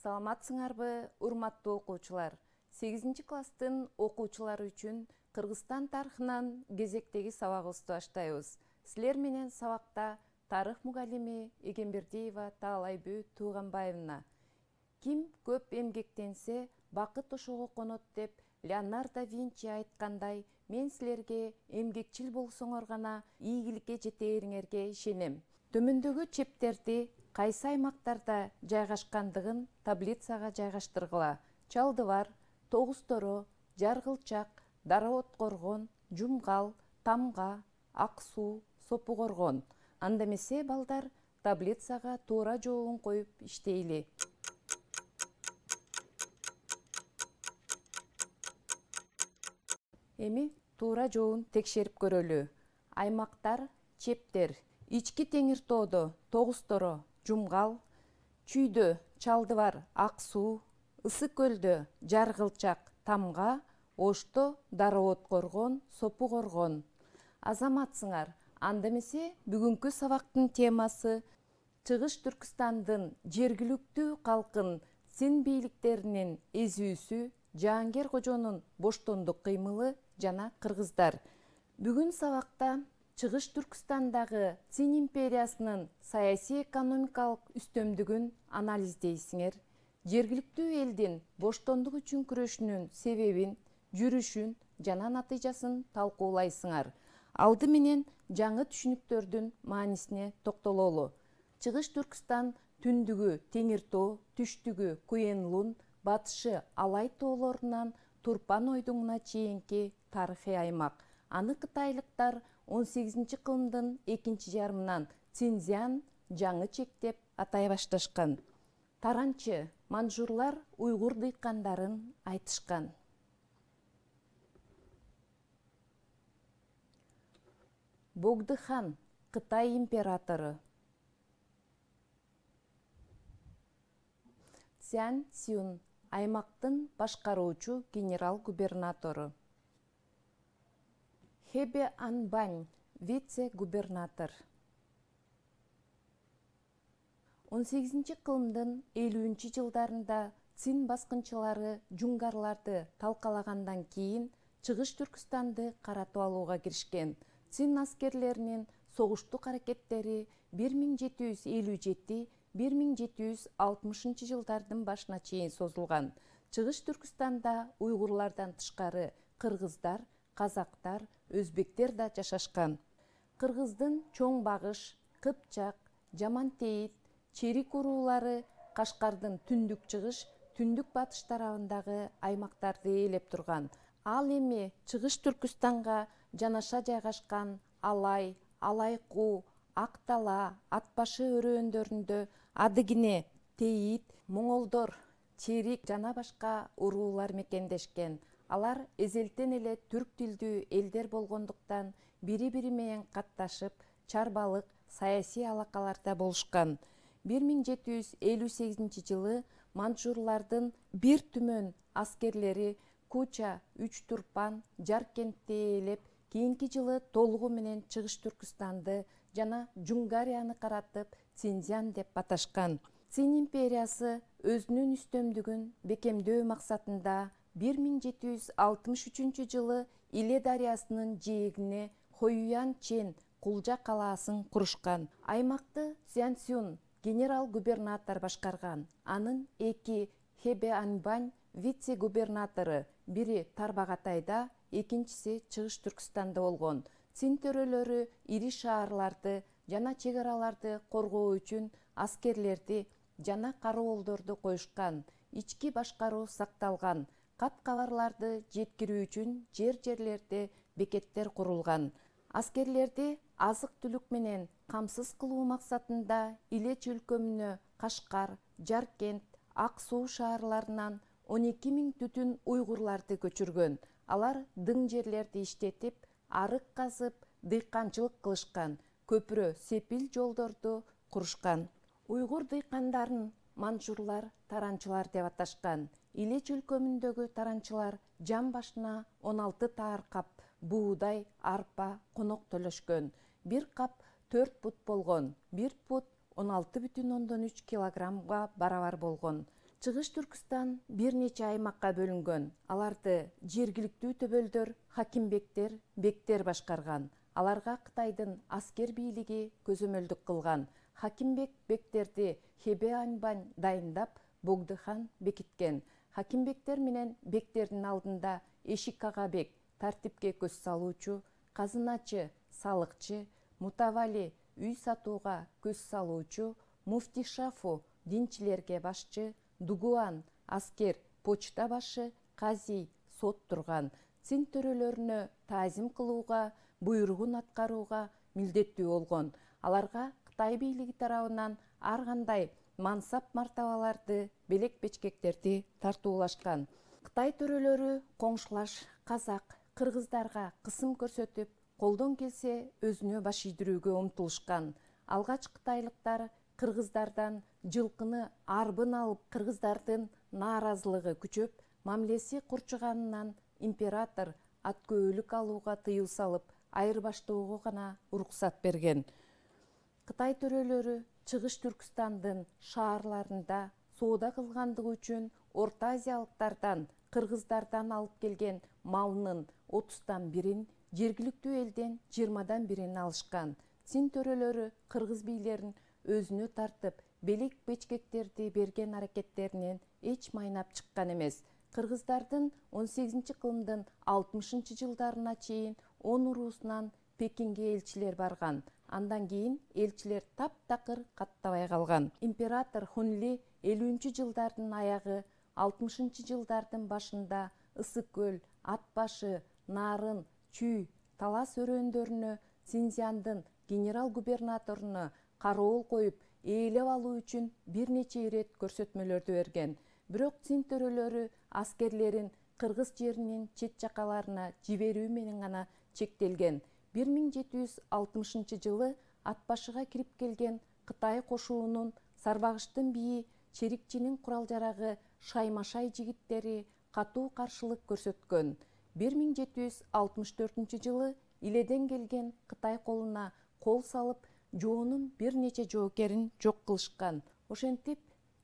Саламатсыңарбы, урматтуу окуучулар. 8-класстын окуучулары үчүн Кыргызстан тарыхынан кезектеги сабагыбызды баштайбыз. Силер менен сабакта тарых мугалими Эгембердиева Таалайбү Тууганбаевна. Ким көп эмгектенсе, бакыт ошого конот деп Леонардо Винчи айткандай, мен силерге эмгекчил болсоңор гана ийгиликке жетээриңерге ишенем. Төмөндөгү чептерди кайсы аймактарда жайгашкандыгын таблицага жайгаштыргыла. Чалдыбар, Тогуз-Торо, Жаргылчак, Дара-Откоргон, Жумгал, Тамга, Ак Суу, Сопу-Коргон. Анда эмесе балдар таблицага туура жообун коюп иштейли. Эми туура жообун текшерип көрөлү. Аймактар, чептер: Ички Теңир тоодо Тогуз-Торо, Жумгал, Чүйдө Чалдыбар, Ак Суу, Ысык көлдө Жаргылчак, Тамга, Ошто Дара-Откоргон, Сопу-Коргон. Азаматсыңар, анда эмесе бүгүнкү сабактын темасы Чыгыш Түркүстандын жергиликтүү калкын син бийликтеринин эзүүсү, Жаангер кожонун боштондук кыймылы жана кыргыздар. Бүгүн сабакта Чыгыш Түркүстандагы Цин империясынын саясий экономикалык үстөмдүгүн анализдейсиңер. Жергиликтүү элдин боштондук үчүн күрөшүнүн себебин, жүрүшүн жана натыйжасын талкуулайсыңар. Алды менен жаңы түшүнүктөрдүн маанисине токтололу. Чыгыш Түркүстан түндүгү Теңир тоо, түштүгү Куен-Лун, батышы Алай тоолорунан Турпан ойдуңуна чейинки тарыхый аймак. Аны кытайлыктар 18-кылымдын экинчи жарымынан Цинзян жаңы чек деп атай башташкан. Таранчы манжурлар уйгур дыйкандарын айтышкан. Богдыхан Кытай императору. Цзян Цюн аймактын башкаруучу генерал-губернатору. Хэбе Анбань вице-губернатор. 18-кылымдын 50-жылдарында Цин баскынчылары жунгарларды талкалагандан кийин Чыгыш Түркүстанды каратып алууга киришкен. Цин аскерлеринин согуштук аракеттери 1757-1760 жылдардын башына чейин созулган. Чыгыш Түркүстанда уйгурлардан тышкары кыргыздар, казактар, өзбектер да жашашкан. Кыргыздын Чоң Багыш, Кыпчак, Жамантейит, Черик уруулары Кашкардын түндүк чыгыш, түндүк батыш тарабындагы аймактарды ээлеп турган. Ал эми Чыгыш Түркүстанга жанаша жайгашкан Алай, Алайкуу, Ак Дала, Ат башы өрөөндөрүндө Адыгине, Тейит, Моңолдор, Черик жана башка уруулар мекендешкен. Алар эзелтен эле түрк тилдүү элдер болгондуктан бири-бири менен катташып, чарбалык саясий алакаларда болушкан. 1758-жылы манжурлардын бир түмөн аскерлери Куча, Үч Турпан, Жаркентти ээлеп, кийинки жылы толугу менен Чыгыш Түркүстанды жана Жунгарияны каратып Цинзян деп аташкан. Цин империясы өзүнүн үстөмдүгүн бекемдөө максатында 1763-жылы Иле дарыясынын жээгине Хоюян Чен кулжа калаасын курушкан. Аймакты Цзян Цюн генерал-губернатор башкарган. Анын эки Хэбе Анбань вице-губернатору, бири Тарбагатайда, экинчиси Чыгыш Түркүстанда болгон. Цин төрөлөрү ири шаарларды жана чек араларды коргоо үчүн аскерлерди жана кароолдорду коюшкан. Ички башкаруу сакталган. Кат-кабарларды жеткирүү үчүн жерлерде бекеттер курулган. Аскерлерди азык-түлүк менен камсыз кылуу максатында Иле чөлкөмүнө Кашкар, Жаркент, Ак Суу шаарларынан 12 000 түтүн уйгурларды көчүргөн. Алар дың жерлерди иштетип, арык казып, дыйканчылык кылышкан. Көпүрө, сепил жолдорду курушкан. Уйгур дыйкандарын манжурлар таранчылар деп аташкан. Иле чөлкөмүндөгү таранчылар жан башына 16 таар кап буудай, арпа, конок төлөшкөн. Бир кап 4 пут болгон. 1 пут 16,3 килограммга барабар болгон. Чыгыш Түркүстан бир нече аймакка бөлүнгөн. Аларды жергиликтүү төбөлдөр, хакимбектер, бектер башкарган. Аларга Кытайдын аскер бийлиги көзөмөлдүк кылган. Хакимбек бектерди Хебе Аньбань дайындап, Богдыхан бекиткен. Хакимбектер менен бектердин алдында Эшик ага бек, тартипке көз салуучу, казыначы, салыкчы, мутавали, үй сатууга көз салуучу, муфти Шафу, динчилерге башчы, дугуан, аскер, почта башы, казий, сот турган. Цин төрөлөрүнө таазим кылууга, буйругун аткарууга милдеттүү болгон. Аларга Кытай бийлиги тарабынан ар кандай мансап мартабаларды, белек бечкектерди тартуулашкан. Кытай төрөлөрү коңшулаш казак, кыргыздарга кысым көрсөтүп, колдон келсе өзүнө баш ийдирүүгө умтулушкан. Алгач кытайлыктар кыргыздардан жылкыны арбын алып, кыргыздардын нааразылыгы күчөп, мамилеси курчуганынан император ат көөлүк алууга тыюу салып, айырбаштоого гана уруксат берген. Кытай төрөлөрү Чыгыш Түркүстандын шаарларында соода кылгандыгы үчүн Орто Азиялыктардан, кыргыздардан алып келген малынын 30-дан 1-ин, жергиликтүү элден 20-дан 1-ин алышкан. Цин төрөлөрү кыргыз бийлерин өзүнө тартып, белек бечкектерди берген аракеттеринен эч майнап чыккан эмес. Кыргыздардын 18-кылымдын 60-жылдарына чейин 10 уруусунан Пекинге элчилер барган. Андан кийин элчилер таптакыр каттабай калган. Император Хунли 50-жылдардын аягы, 60-жылдардын башында Ысык көл, Ат башы, Нарын, Чүй, Талас өрөөндөрүнө Цинзяндын генерал-губернаторуна кароол коюп, ээлеп алуу үчүн бир нече ирет көрсөтмөлөрдү берген. Бирок Цин төрөлөрү аскерлерин кыргыз жеринин чет жакаларына жиберүү менен гана чектелген. 1760-жылы Атбашыга кирип келген Кытай кошуунун Сарбагыштын бийи Черикчинин курал-жарагы Шаймашай жигиттери катуу каршылык көрсөткөн. 1764-жылы Иледен келген Кытай колуна кол салып, жоонун бир нече жоокерин жок кылышкан. Ошентип,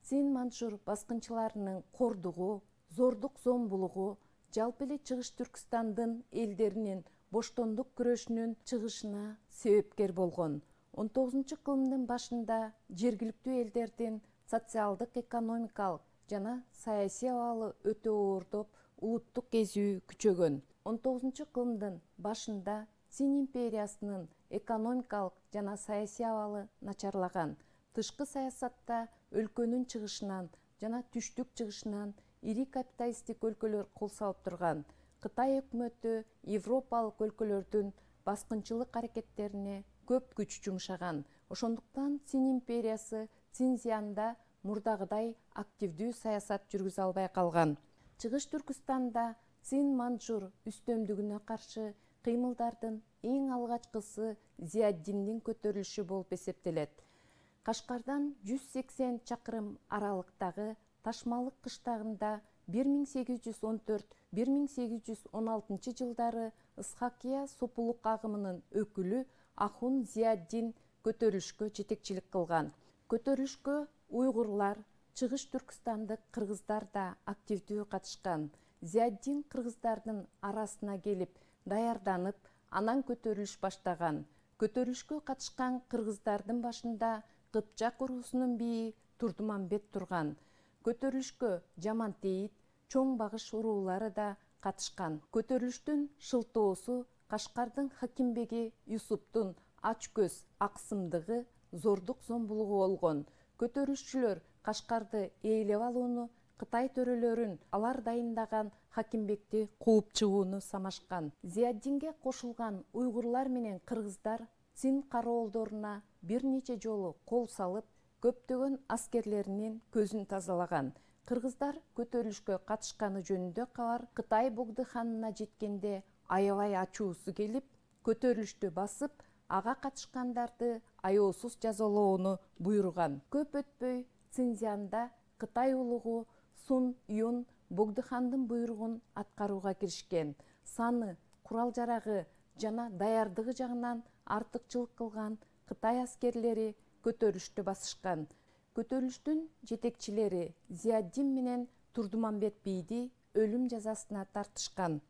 Цин-манчжур баскынчыларынын кордугу, зордук-зомбулугу, жалпы эле Чыгыш Түркүстандын элдеринин боштондук күрөшүнүн чыгышына себепкер болгон. 19-кылымдын башында жергиликтүү элдердин социалдык, экономикалык жана саясий абалы өтө оордоп, улуттук кезүү күчөгөн. 19-кылымдын башында Цин империясынын экономикалык жана саясий абалы начарлаган. Тышкы саясатта өлкөнүн чыгышынан жана түштүк чыгышынан ири капиталисттик өлкөлөр кол салып турган. Кытай өкмөтү Европалык өлкөлөрдүн баскынчылык аракеттерине көп күч жумшаган. Ошондуктан Цин империясы Цинзянда мурдагыдай активдүү саясат жүргүзө албай калган. Чыгыш Түркүстанда Цин-манчжур үстөмдүгүнө каршы кыймылдардын эң алгачкысы Зияддиндин көтөрүлүшү болуп эсептелет. Кашкардан 180 чакырым аралыктагы Ташмалык кыштагында 1814-1816 жылдары Ысхакия сопулук агымынын өкүлү Ахун Зияддин көтөрүлүшкө жетекчилик кылган. Көтөрүлүшкө уйгурлар, Чыгыш Түркүстандык кыргыздар да активдүү катышкан. Зияддин кыргыздардын арасына келип, даярданып, анан көтөрүлүш баштаган. Көтөрүлүшкө катышкан кыргыздардын башында Кыпчак уруусунун бийи Турдумамбет турган. Көтөрүлүшкө Жамантейит, Чоң Багыш уруулары да катышкан. Көтөрүлүштүн шылтоосу Кашкардын хакимбеги Юсуптун ач көз, аксымдыгы, зордук-зомбулугу болгон. Көтөрүлүшчүлөр Кашкарды ээлеп алууну, Кытай төрөлөрүн алар дайындаган хакимбекти кууп чыгууну самашкан. Зияддинге кошулган уйгурлар менен кыргыздар Цин кароолдоруна бир нече жолу кол салып, көптөгөн аскерлеринин көзүн тазалаган. Кыргыздар көтөрүлүшкө катышканы жөнүндө кабар Кытай Богдыханына жеткенде аябай ачуусу келип, көтөрүлүштү басып, ага катышкандарды аяосуз жазалоону буйруган. Көп өтпөй Цинзянда Кытай улугу Сун Юн Богдыхандын буйругун аткарууга киришкен. Саны, курал-жарагы жана даярдыгы жагынан артыкчылык кылган Кытай аскерлери көтөрүлүштү басышкан. көтөрүлүштүн жетекчилери Зияддин менен Турдумамбет бийди өлүм жазасына тартышкан.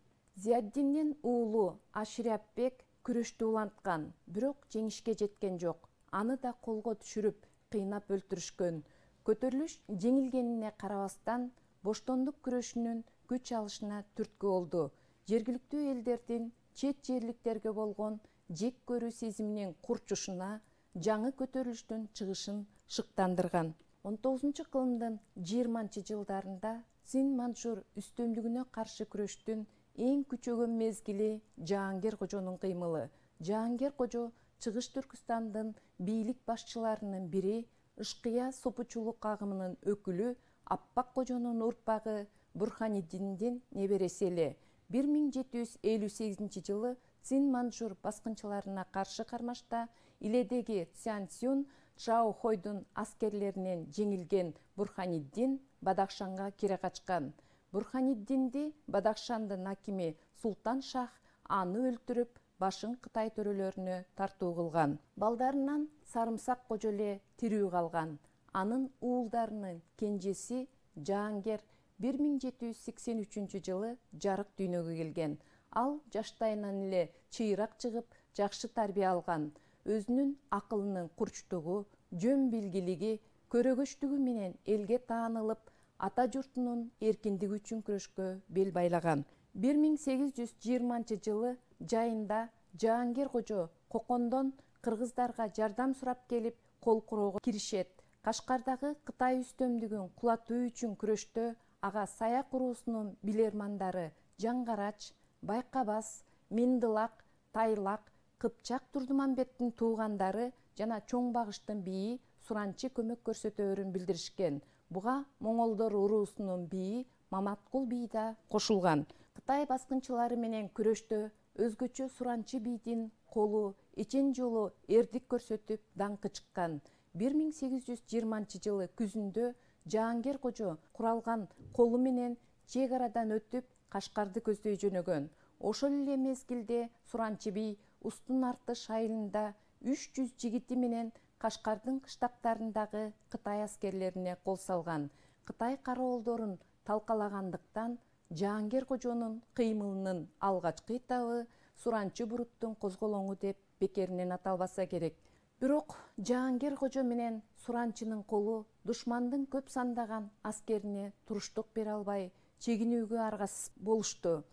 Зияддиндин уулу Аширапбек күрөштү уланткан, бирок жеңишке жеткен жок. Аны да колго түшүрүп, кыйнап өлтүрүшкөн. Көтөрүлүш жеңилгенине карабастан, боштондук күрөшүнүн күч алышына түрткү болду. Жергиликтүү элдердин чет жерликтерге болгон жек көрүү сезиминин курчушуна жаңы көтөрүлүштүн чыгышын шыктандырган. 19-кылымдын 20-жылдарында Цин-Манчжур үстөмдүгүнө каршы күрөштүн эң күчөгөн мезгили Жаангер кожонун кыймылы. Жаангер кожо Чыгыш Түркүстандын бийлик башчыларынын бири, Ышкыя сопучулук агымынын өкүлү Аппак кожонун урпагы Бурханиддиндин небереси эле. 1758-жылы Цин-Манчжур баскынчыларына каршы кармашта иледеги Цзянсюн Чжаохойдун аскерлеринен жеңилген Бурханиддин Бадахшанга кире качкан. Бурханиддинди Бадахшандын акими Султан Шах аны өлтүрүп, башын Кытай төрөлөрүнө тартуу кылган. Балдарынан Сарымсак кожо эле тирүү калган. Анын уулдарынын кенжеси Жаангер 1783-жылы жарык дүйнөгө келген. Ал жаштайынан эле чыйрак чыгып, жакшы тарбия алган. Өзүнүн акылынын курчтугу, жөн билгилиги, көрөгөчтүгү менен элге таанылып, ата журтунун эркиндиги үчүн күрөшкө бел байлаган. 1820-жылы жайында Жаангер кожо Кокондон кыргыздарга жардам сурап келип, кол куроого киришет. Кашкардагы Кытай үстөмдүгүн кулатуу үчүн күрөштө ага Саяк уруусунун билермандары Жаңгарач, Байкабас, Миндылак, Тайлак, Кыпчак Турдумамбеттин туугандары жана Чоң Багыштын бийи Суранчы көмөк көрсөтөөрүн билдиришкен. Буга Моңолдор уруусунун бийи Маматкул бий да кошулган. Кытай баскынчылары менен күрөштө өзгөчө Суранчы бийдин колу эчен жолу эрдик көрсөтүп даңкы чыккан. 1820-жылы күзүндө Жаангер кожо куралган колу менен чек арадан өтүп, Кашкарды көздөй жөнөгөн. Ошол эле мезгилде Суранчы бий Устун Артыш айылында 300 жигити менен Кашкардын кыштактарындагы Кытай аскерлерине кол салган. Кытай кароолдорун талкалагандыктан Жаангер кожонун кыймылынын алгачкы этабы Суранчы буруттун козголоңу деп бекеринен аталбаса керек. Бирок Жаангер кожо менен Суранчынын колу душмандын көп сандаган аскерине туруштук бере албай, чегинүүгө аргасыз болушту.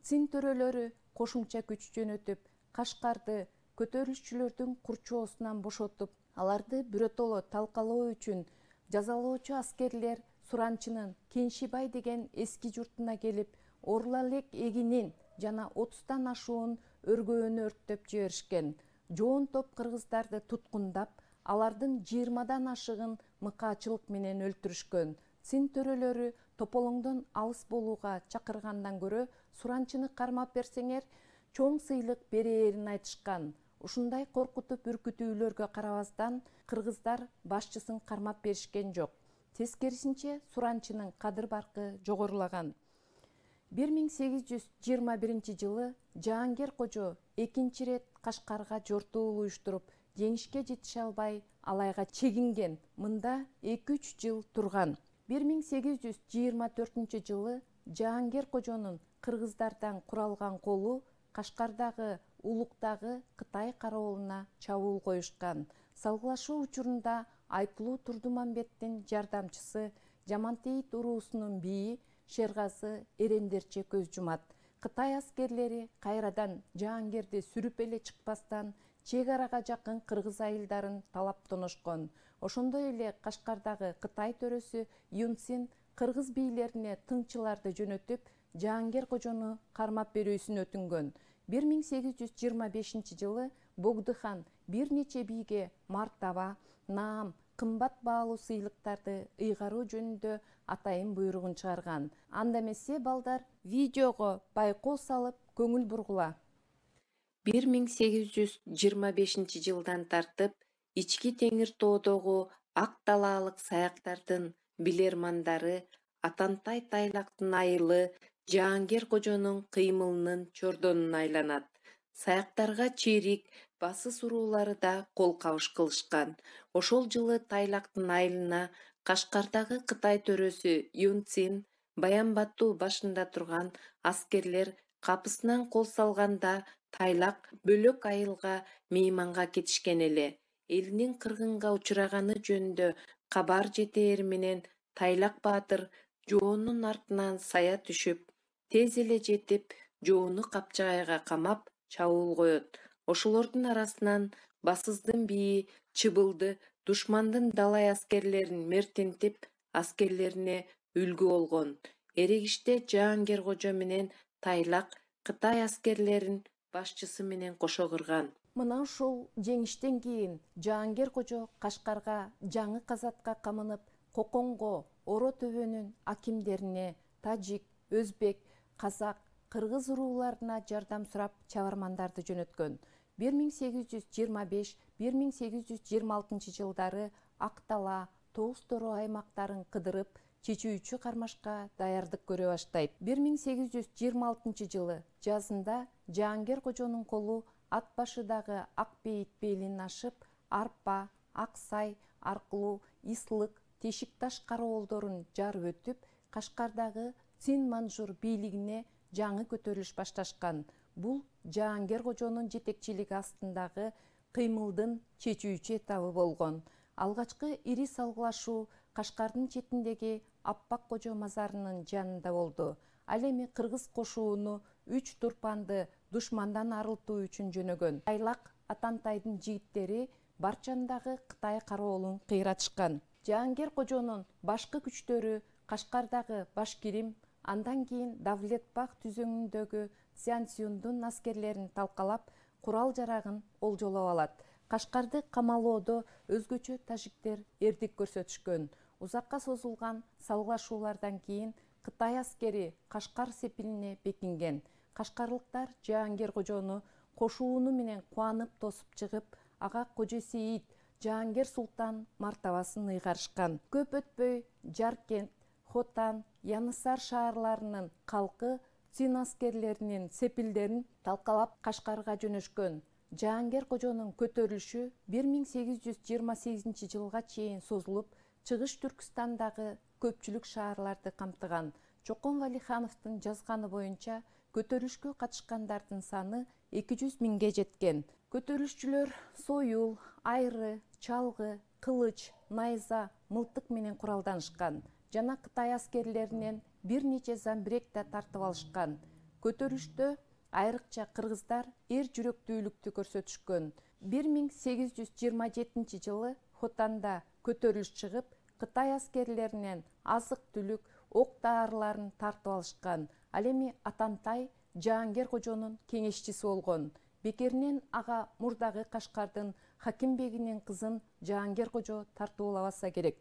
Цин төрөлөрү кошумча күч жөнөтүп, Кашкарды көтөрүлүшчүлөрдүн курчоосунан бошотуп, аларды биротоло талкалоо үчүн жазалоочу аскерлер Суранчынын Кеншибай деген эски журтуна келип, Орлалек эгинин жана 30тан ашуун өргөөнү өрттөп жиберишкен. Жоон топ кыргыздарды туткундап, алардын 20дан ашыгын мыкаачылык менен өлтүрүшкөн. Цин төрөлөрү Тополоңдон алыс болууга чакыргандан көрө Суранчыны кармап берсеңер, чоң сыйлык берээрин айтышкан. Ушундай коркутуп үркүтүүлөргө карабастан, кыргыздар башчысын кармап беришкен жок. Тескерисинче Суранчынын кадыр-баркы жогорулаган. 1821-жылы Жаангер кожо экинчи рет Кашкарга жортуул уюштуруп, жеңишке жетише албай, алайга чегинген. Мында 2-3 жыл турган. 1824-жылы Жаангер кожонун кыргыздардан куралган колу Кашкардагы Улуктагы Кытай кароолуна чабуул коюшкан. Салгылашуу учурунда Айтылуу Турдумамбеттин жардамчысы Жамантейит уруусунун бийи Шергазы эрендерче көз жумат. Кытай аскерлери кайрадан Жаангерди сүрүп эле чыкпастан, чек арага жакын кыргыз айылдарын талап тоношкон. Ошондой эле Кашкардагы Кытай төрөсү Юнсин кыргыз бийлерине тыңчыларды жөнөтүп, Жаангер кожону кармап берүүсүн өтүнгөн. 1825-жылы Богдыхан бир нече бийге мартаба, наам, кымбат баалуу сыйлыктарды ыйгаруу жөнүндө атайын буйругун чыгарган. Анда эмесе балдар, видеого байкоо салып көңүл бургула. 1825-жылдан тартып Ички Теңир тоодогу ак талаалык саяктардын билермандары Атантай Тайлактын айылы Жаангер кожонун кыймылынын чордонуна айланат. Саяктарга чирик, басыс уруулары да кол кабыш кылышкан. Ошол жылы Тайлактын айылына Кашкардагы Кытай төрөсү Юн Цин Баян Бату башында турган аскерлер капысынан кол салганда Тайлак бөлөк айылга мейманга кетишкен эле. Элинин кыргынга учураганы жөнүндө кабар жетээр менен Тайлак баатыр жоонун артынан сая түшүп, тез эле жетип, жоону капчагайга камап чабуул коет. Ошолордун арасынан басыздын бийи Чыбылды душмандын далай аскерлерин мертентип, аскерлерине үлгү болгон. Эрегиште Жаангер кожо менен Тайлак Кытай аскерлерин башчысы менен кошо кырган. Мына ушул жеңиштен кийин Жаангер кожо Кашкарга жаңы казатка камынып, Коконго, Оро төбөнүн акимдерине, тажик, өзбек, казак, кыргыз урууларына жардам сурап чабармандарды жөнөткөн. 1825-1826 жылдары Актала, Тоос Тороо аймактарын кыдырып, чечүүчү кармашка даярдык көрө баштайт. 1826 жылы жазында Жаангер кожонун колу ат башыдагы Ак Бейит белин ашып, Арпа, Ак Сай аркылуу Ислык, Тешик Таш кароолдорун жарып өтүп, Кашкардагы Цин Манжур бийлигине жаңы көтөрүлүш башташкан. Бул Жаангер кожонун жетекчилиги астындагы кыймылдын чечүүчү этабы болгон. Алгачкы ири салгылашуу Кашкардын четиндеги Аппак кожо мазарынын жанында болду. Ал эми кыргыз кошууну 3 турпанды душмандан арылтуу үчүн жөнөгөн. Тайлак Атантайдын жигиттери Барчандагы Кытай кароолун кыйратышкан. Жаангер кожонун башкы күчтөрү Кашкардагы Башкирим, андан кийин Давлетбах түзөңүндөгү Цзянсюндун аскерлерин талкалап, курал-жарагын олжолоп алат. Кашкарды камалоодо өзгөчө тажиктер эрдик көрсөтүшкөн. Узакка созулган салгылашуулардан кийин Кытай аскери Кашкар сепилине бекинген. Кашкарлыктар Жаангер кожону кошууну менен кубанып тосуп чыгып, ага Кожо Сейит Жаангер султан мартабасын ыйгарышкан. Көп өтпөй Жаркент, Хотан, Янысар шаарларынын калкы Цин аскерлеринин сепилдерин талкалап Кашкарга жөнөшкөн. Жаангер кожонун көтөрүлүшү 1828 жылга чейин созулуп, Чыгыш Түркістандагы көпчүлүк шаарларды камтыган. Чокон Валихановдун жазганы боюнча көтөрүлүшкө катышкандардын саны 200 миңге жеткен. Көтөрүлүшчүлөр сойул, айры, чалгы, кылыч, найза, мылтык менен куралданышкан жана Кытай аскерлеринен бир нече замбирек да тартып алышкан. Көтөрүлүштө айрыкча кыргыздар эр жүрөктүүлүктү көрсөтүшкөн. 1827 жылы Хотанда көтөрүлүш чыгып, Кытай аскерлеринен азык-түлүк, ок-дарыларын тартып алышкан. Ал эми Атантай Жаангер кожонун кеңешчиси болгон. Бекеринен ага мурдагы Кашкардын Хакимбегинин кызын Жаангер кожо тартуулабаса керек.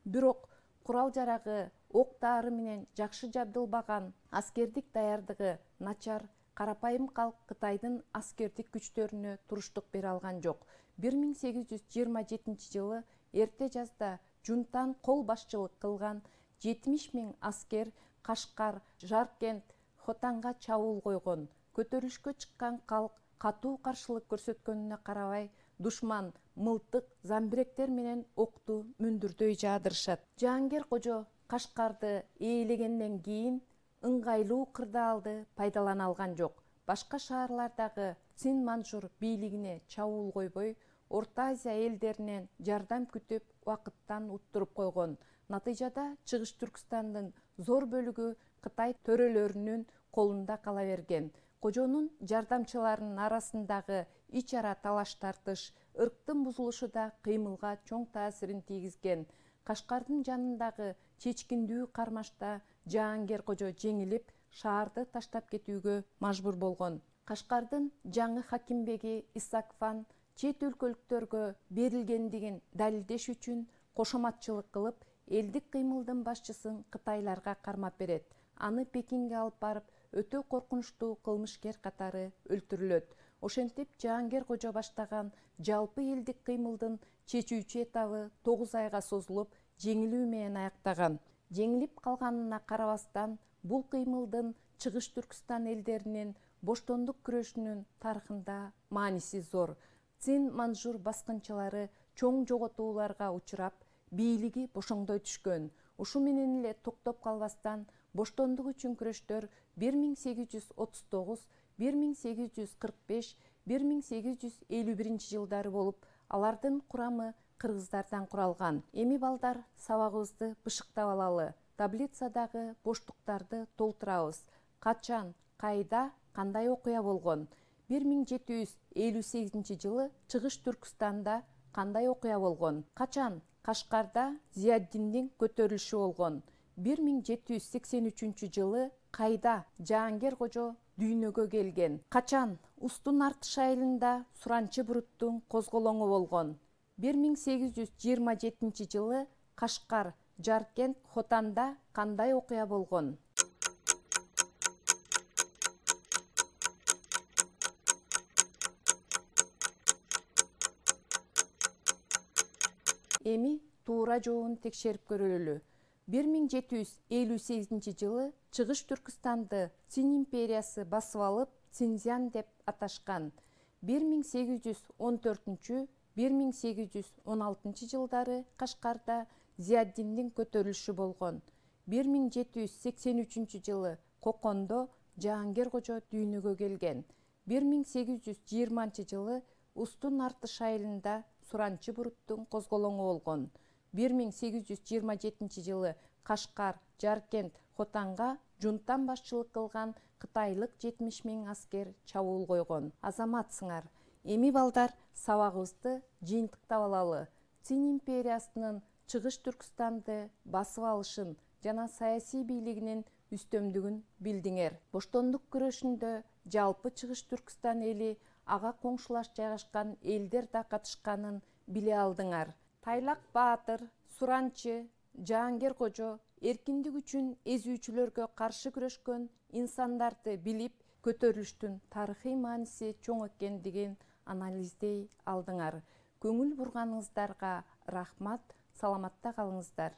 Бирок курал-жарагы, ок-дары менен жакшы жабдылбаган, аскердик даярдыгы начар, карапайым калк Кытайдын аскердик күчтөрүнө туруштук бере алган жок. 1827 жылы эрте жазда жунтан кол башчылык кылган 70 миң аскер Кашкар, Жаркент, Хотанга чабуул койгон. Көтөрүлүшкө чыккан калк катуу каршылык көрсөткөнүнө карабай, душман мылтык, замбиректер менен окту мүндүрдөй жаадырышат. Жаангер кожо Кашкарды ээлегенден кийин ыңгайлуу кырдаалды пайдалана алган жок. Башка шаарлардагы Цин Манжур бийлигине чабуул койбой, Орто Азия элдеринен жардам күтүп, убакыттан уттуруп койгон. Натыйжада Чыгыш Түркістандын зор бөлүгү Кытай төрөлөрүнүн колунда кала берген. Кожонун жардамчыларынын арасындагы ич ара талаш-тартыш, ырктын бузулушу да кыймылга чоң таасирин тийгизген. Кашкардын жанындагы чечкиндүү кармашта Жаангер кожо жеңилип, шаарды таштап кетүүгө мажбур болгон. Кашкардын жаңы хакимбеги Исакфан чет өлкөлүктөргө берилгендигин далилдеш үчүн кошоматчылык кылып, элдик кыймылдын башчысын кытайларга кармап берет. Аны Пекинге алып барып, өтө коркунучтуу кылмышкер катары өлтүрүлөт. Ошентип Жаангер кожо баштаган жалпы элдик кыймылдын чечүүчү этабы 9 айга созулуп, жеңилүү менен аяктаган. Жеңилип калганына карабастан, бул кыймылдын Чыгыш Түркістан элдеринин боштондук күрөшүнүн тарыхында мааниси зор. Цин Манжур баскынчылары чоң жоготууларга учурап, бийлиги бошоңдой түшкөн. Ушу менен эле токтоп калбастан боштондук үчүн күрөштөр 1839, 1845, 1851 жылдары болуп, алардын курамы кыргыздардан куралган. Эми балдар, сабагыбызды бышыктап алалы. Таблицадагы боштуктарды толтурабыз. Качан, кайда, кандай окуя болгон? 1758 жылы Чыгыш Түркүстанда кандай окуя болгон? Качан Кашкарда Зияддиндин көтөрүлүшү болгон? 1783 жылы кайда Жаангер кожо дүйнөгө келген? Качан Устун Артыш айылында Суранчы Буруттун козголоңу болгон? 1827 жылы Кашкар, Жаркент, Хотанда кандай окуя болгон? Эми туура жообун текшерип көрөлү. 1758 жылы Чыгыш Түркүстанды Цин империясы басып алып, Цинзян деп аташкан. 1814-1816 жылдары Кашкарда Зияддиндин көтөрүлүшү болгон. 1783 жылы Кокондо Жаангер кожо дүйнөгө келген. 1820 жылы Устун Артыш айылында Суранчы Буруттун козголоңу болгон. 1827 жылы Кашкар, Жаркент, Хотанга жунтан башчылык кылган кытайлык 70 000 аскер чабуул койгон. Азаматсыңар. Эми балдар, сабагыбызды жыйынтыктап алалы. Цин империясынын Чыгыш Түркүстанды басып алышын жана саясий бийлигинин үстөмдүгүн билдиңер. Боштондук күрөшүндө жалпы Чыгыш Түркүстан эли, ага коңшулаш жайгашкан элдер да катышканын биле алдыңар. Тайлак Баатыр, Суранчы, Жаангер кожо эркиндик үчүн эзүүчүлөргө каршы күрөшкөн инсандарды билип, көтөрүлүштүн тарыхый мааниси чоң экендигин анализдей алдыңар. Көңүл бурганыңыздарга рахмат, саламатта калыңыздар.